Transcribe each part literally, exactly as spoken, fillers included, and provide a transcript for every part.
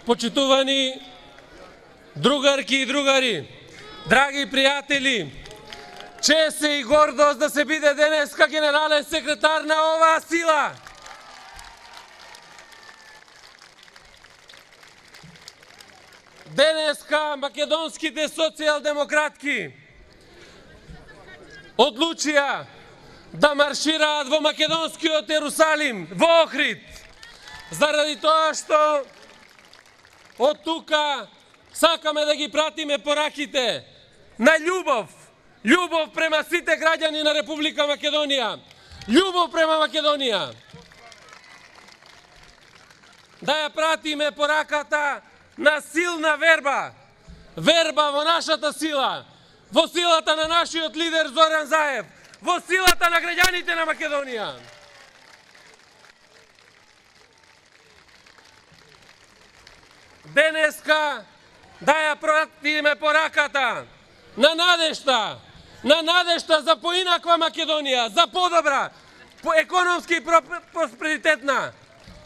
почитувани другарки и другари, драги пријатели, чест и гордост да се биде денеска генерален секретар на оваа сила. Денеска македонските социјалдемократки одлучија да маршираат во македонскиот Ерусалим, во Охрид, заради тоа што од тука сакаме да ги пратиме пораките на љубов, љубов према сите граѓани на Република Македонија, љубов према Македонија. Да ја пратиме пораката на силна верба, верба во нашата сила, во силата на нашиот лидер Зоран Заев, во силата на граѓаните на Македонија. Денеска да ја пратиме пораката на надежта, на надежта за поинаква Македонија, за подобра, по економски просперитетна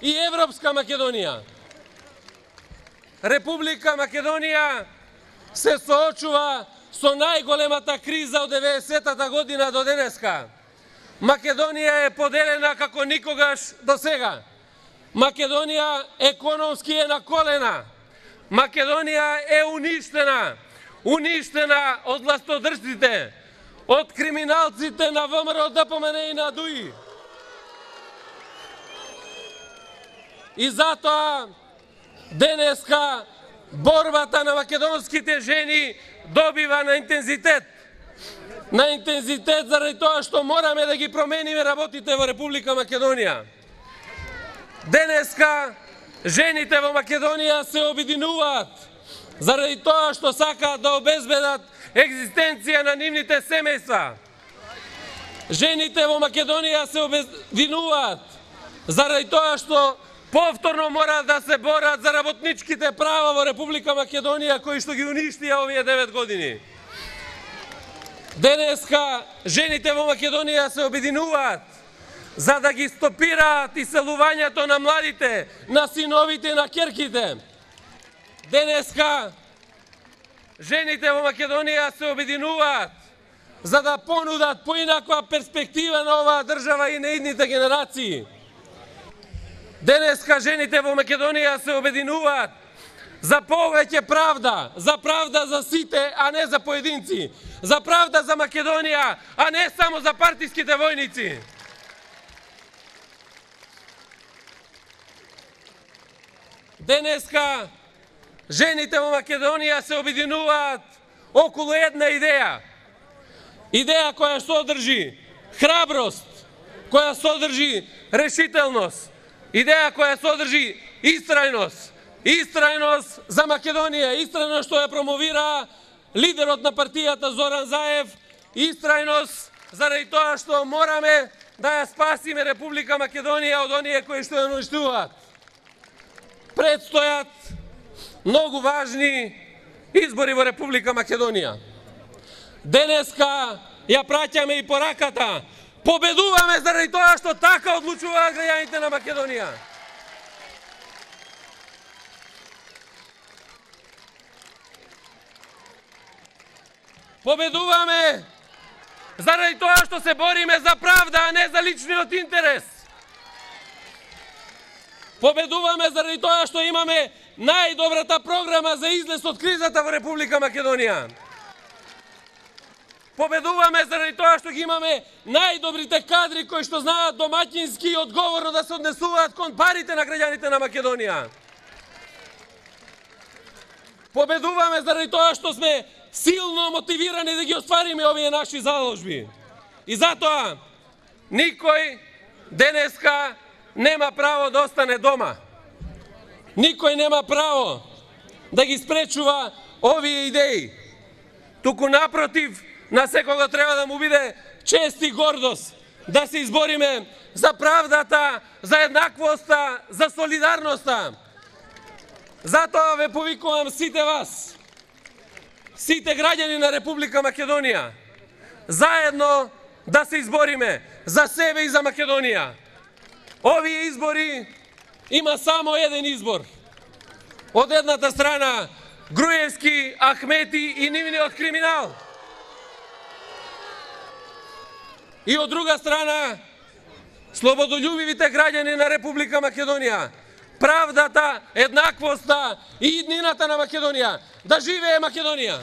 и европска Македонија. Република Македонија се соочува со најголемата криза од деветдесетата година до денеска. Македонија е поделена како никогаш до сега. Македонија економски е на колена. Македонија е уништена. Уништена од властодржците, од криминалците на ВМРО, ДПМН и на ДУИ. И затоа денеска борбата на македонските жени добива на интензитет. На интензитет заради тоа што мораме да ги промениме работите во Република Македонија. Денеска жените во Македонија се обединуваат заради тоа што сакаат да обезбедат екзистенција на нивните семејства. Жените во Македонија се обединуваат заради тоа што повторно мора да се борат за работничките права во Република Македонија, кои што ги уништија овие девет години. Денеска жените во Македонија се обединуваат за да ги стопираат иселувањето на младите, на синовите и на ќерките. Денеска жените во Македонија се обединуваат за да понудат поинаква перспектива на оваа држава и на идните генерации. Денеска жените во Македонија се обединуваат за повеќе правда, за правда за сите, а не за поединци, за правда за Македонија, а не само за партиските војници. Денеска жените во Македонија се обединуваат околу една идеја. Идеја која содржи храброст, која содржи решителност, идеја која содржи истрајност, истрајност за Македонија, истрајност што ја промовира лидерот на партијата Зоран Заев, истрајност заради тоа што мораме да ја спасиме Република Македонија од оние кои што ја уништуваат. Предстојат многу важни избори во Република Македонија. Денеска ја праќаме и пораката. Победуваме заради тоа што така одлучуваат граѓаните на Македонија. Победуваме заради тоа што се бориме за правда, а не за личниот интерес. Победуваме заради тоа што имаме најдобрата програма за излез од кризата во Република Македонија. Победуваме заради тоа што ги имаме најдобрите кадри кои што знаат домаќински и одговорно да се однесуваат кон парите на граѓаните на Македонија. Победуваме заради тоа што сме силно мотивирани да ги оствариме овие наши заложби. И затоа никој денеска нема право да остане дома. Никој нема право да ги спречува овие идеи. Туку напротив, на секого треба да му биде чест и гордост да се избориме за правдата, за еднаквоста, за солидарноста. Затоа ве повикувам сите вас, сите граѓани на Република Македонија, заедно да се избориме за себе и за Македонија. Овие избори има само еден избор. Од едната страна Груевски, Ахмети и нивниот криминал. И од друга страна слободолюбивите граѓани на Република Македонија. Правдата, еднаквоста и иднината на Македонија. Да живее Македонија!